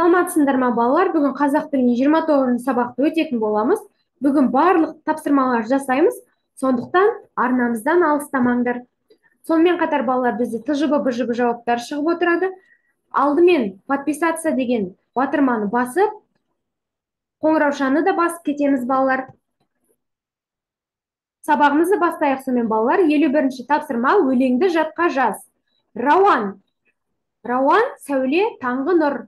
Саламатсыздар ма балалар? Бүгін қазақ тілінің 29 сабақты өтетін боламыз. Бүгін барлық тапсырмалар жасаймыз. Сондықтан арнамыздан алыстамаңдар. Сонымен қатар балалар бізде ТЖБ, БЖБ жауаптар шығып отырады. Алдымен подписаться деген батырманы басып, қоңыраушаны да басып кетеміз балалар. Сабағымызды бастайық сонымен балалар. 51-ші тапсырма өлеңді жатқа жаз. Рауан. Рауан сәуле таңғы нұр.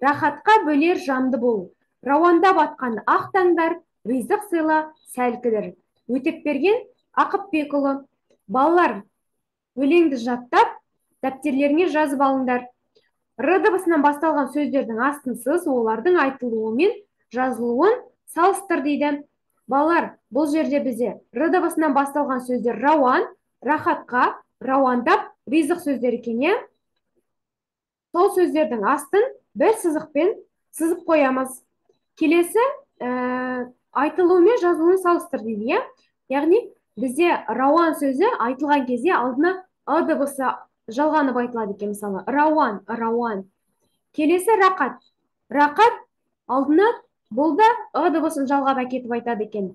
Рахатқа бөлер жанды бол. Рауанда батқан ақ таңдар, ризық сыйла сәл кідір. Өтеп берген Ақыпбекұлы. Балалар, өлеңді жаттап, дәптерлеріңе жазып алыңдар. Р дыбысынан басталған сөздердің астынсыз олардың айтылуы мен жазылуын салыстыр дейді. Балалар, бұл жерде бізде Р дыбысынан басталған сөздер рауан, рахатқа, рауандап, ризық сөздері екен, иә? Сол сөздердің астын бір сызықпен сызып қоямыз. Келесі айтылуы мен жазылуын салыстыр дейді, иә? Яғни бізде рауан сөзі айтылған кезде алдына ы дыбысы жалғанып айтылады екен, мысалы. Рауан, рауан. Келесі рақат. Рақат алдына бұл да ы дыбысын жалғап әкетіп айтады екен.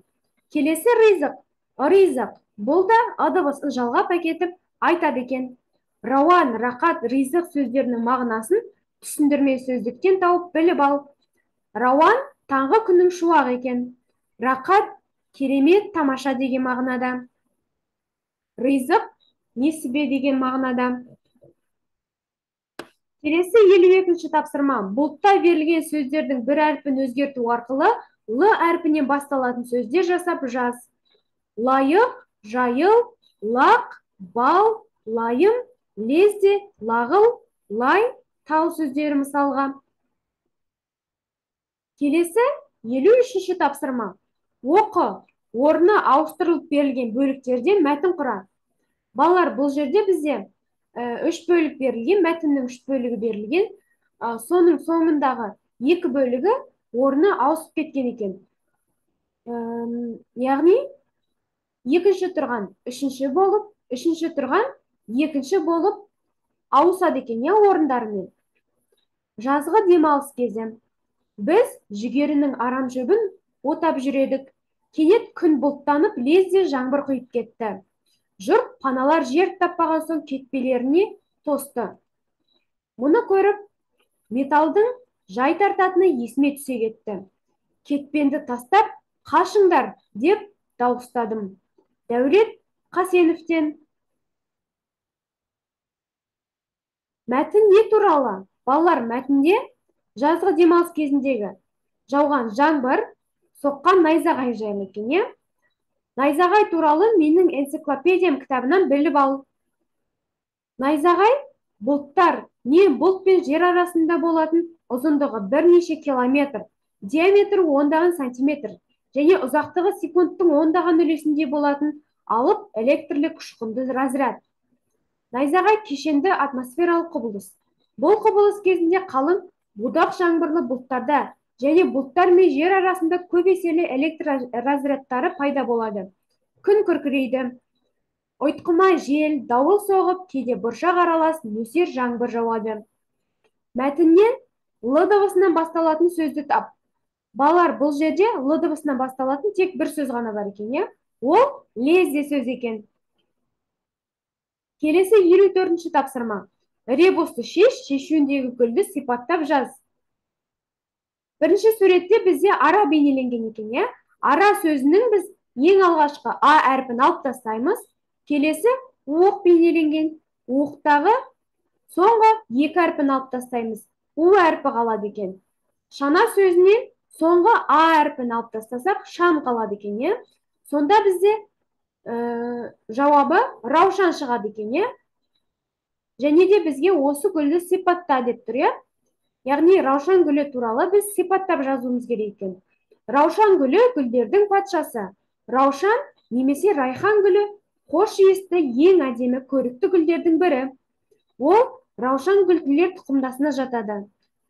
Келесі ризық. Ризық. Бұл да ы дыбысын жалғап әкетіп айтады екен. Рауан, рақат, ризық сөздерінің мағынасын түсіндірме сөздіктен тауып біліп ал. Рауан таңғы күннің шуағы екен. Рақат керемет, тамаша деген мағынада. Ризық несібе деген мағынада. Келесі 52-ші тапсырма. Бұлтта берілген сөздердің бір әрпін өзгерту арқылы Л әрпінен басталатын сөздер жасап жаз. Лайық, жайыл, лақ, бал, лайым, лезде, лағыл, лай, тал сөздері мысалға. Келесі 53-ші тапсырма. Оқы, орны ауыстырылып берілген бөліктерден мәтін құра. Балалар, бұл жерде бізде 3 бөлік берілген, мәтіннің 3 бөлігі берілген. Соның соңындағы 2 бөлігі орны ауысып кеткен екен. Яғни, екінші тұрған үшінші болып, үшінші тұрған екінші болып ауысады екен, я, орындарымен. Жазғы демалыс кезі. Біз жүгерінің арам шөбін отап жүредік. Кенет күн бұлттанып, лезде жаңбыр құйып кетті. Жұрт паналар жер таппаған соң кетпелеріне тосты. Мұны көріп, металдың жай тартатыны есіме түсе кетті. Кетпенді тастап, қашыңдар деп дауыстадым. Дәулет Қасеновтен. Мәтін не туралы? Балалар, мәтінде жазғы демалыс кезіндегі жауған жаңбыр, соққан найзағай жайлы екен, иә? Найзағай туралы менің энциклопедиям кітабынан біліп ал. Найзағай бұлттар не бұлт пен жер арасында болатын ұзындығы бірнеше километр, диаметрі ондаған сантиметр және ұзақтығы секундтың ондаған үлесінде болатын алып электрлік ұшқынды разряд. Найзағай кешенді атмосфералық құбылыс. Бұл құбылыс кезінде қалың будақ жаңбырлы бұлттарда және бұлттар мен жер арасында көп еселі электр разрядтары пайда болады. Күн күркірейді. Ұйтқыма жел, дауыл соғып, кейде бұршақ аралас нөсер жаңбыр жауады. Мәтіннен Л дыбысынан басталатын сөзді тап. Балалар, бұл жерде Л дыбысынан басталатын тек бір сөз ғана бар екен, иә? Ол лезде сөз екен. Келесі 54-ші тапсырма. Ребусты шешуіндегі гүлді сипаттап жаз. Бірінші суретте бізде ара бейнеленген екен, иә? Ара сөзінің біз ең алғашқы А әрпін алып тастаймыз. Келесі оқ бейнеленген. Оқтағы соңғы 2 әрпін алып тастаймыз. У әрпі қалады екен. Шана сөзінен соңғы А әрпін алып тастасақ, шам қалады екен, иә? Сонда бізде жауабы раушан шығады екен, иә? Және де бізге осы гүлді сипатта деп тұр, иә? Яғни раушан гүлі туралы біз сипаттап жазуымыз керек екен. Раушан гүлі гүлдердің патшасы. Раушан немесе райхан гүлі хош иісті ең әдемі көрікті гүлдердің бірі. Ол раушан гүлділер тұқымдасына жатады.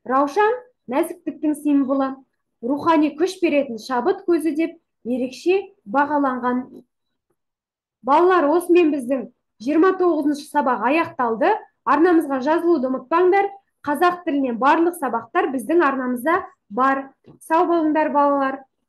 Раушан нәзіктіктің символы, рухани күш беретін шабыт көзі деп ерекше бағаланған. Балалар, осымен біздің 29-шы сабақ аяқталды. Арнамызға жазылуды ұмытпаңдар. қазақ тілінен барлық сабақтар біздің арнамызда бар. Сау болыңдар балалар.